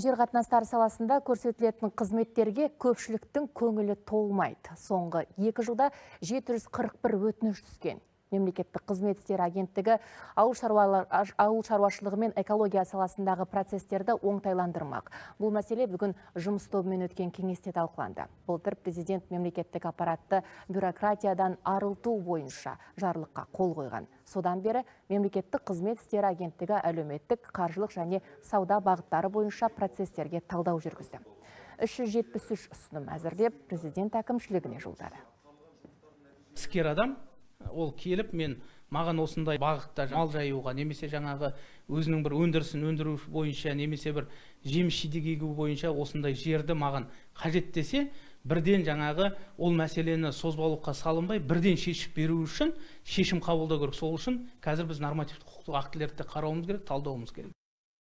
Жер қатынастары саласында көрсетілетін қызметтерге көпшіліктің көңілі толмайды. Соңғы 2 жылда 741 өтініш түскен. Мемлекеттік қызмет істері агенттігі ауыл шаруашылығы мен экология саласындағы процестерді оңтайландырмақ. Бұл мәселе бүгін жұмыс тобымен өткен кеңесте талқыланды. Былтыр президент мемлекеттік аппаратты бюрократиядан арылту бойынша жарлыққа қол қойған. Содан бері мемлекеттік қызмет істері агенттігі әлеуметтік, қаржылық және сауда бағыттары бойынша процестерге талдау жүргізді. 373 ұсыным әзірлеп, президент әкімшілігіне жолдады. Іскер адам ол келіп, маған осындай бағытта мал жаюға, немесе жаңағы өзінің бір өндірісін өндіру бойынша, немесе бір жеміс-жидек егу бойынша осындай жерді маған қажет десе, бірден жаңағы ол мәселені созбалыққа салынбай, бірден шешіп беру үшін шешім қабылдау керек. Сол үшін қазір біз нормативтік құқықтық актілерді қарауымыз керек, талдауымыз керек.